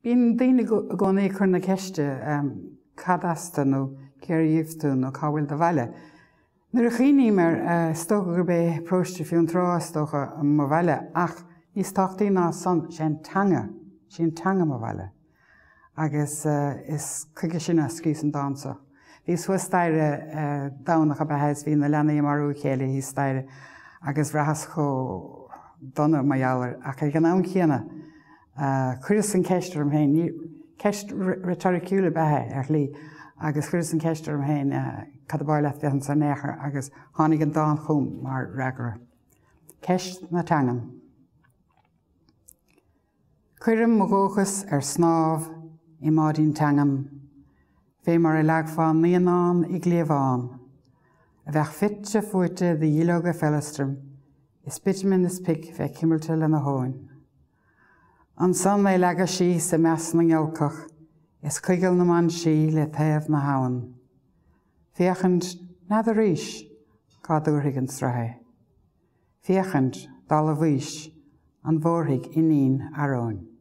Bíonn daoine i gcónaí ag cur na ceiste cad as tú nó cér dhíobh tú nó cá bhfuil do bhaile. Nuair a chuimhním air, is dócha gurb é Paróiste Fionntrá is dócha mo bhaile ach níos tábhachtaí ná san, sé an teanga, sí an teanga mo bhaile. Agus is chuige sin a scríos an dán seo. Bhíos thuas staighre Domhnach ab ea is bhí na leanaí ag marú a chéile thíos staighre agus bhraitheas chomh dona mar gheall air ach ag an am chéanna Chuireas an cheist orm féin, ceist reitoriciúil ab ea é ar shlí, agus chuireas an cheist orm féin cad ab áil leat bheith anso in aon chor agus tháinig an dán chugam mar fhreagra. Ceist na teangan. Cuirim mo dhóchas ar snámh i mbáidín teangan, fé mar a leagfá naíonán i gcliabhán, a bheadh fite fuaite de dhuilleoga feileastraim is bitumen is pic bheith cuimilte lena thóin. Ansan é leagadh síos i measc na ngiolcach is coigeal na mban sí le taobh na habhann. Féachaint, n'fheadar arís cá dtabharfaidh an sruth é. Féachaint, dála Mhaois, an bhfóirfidh iníon Fharóin.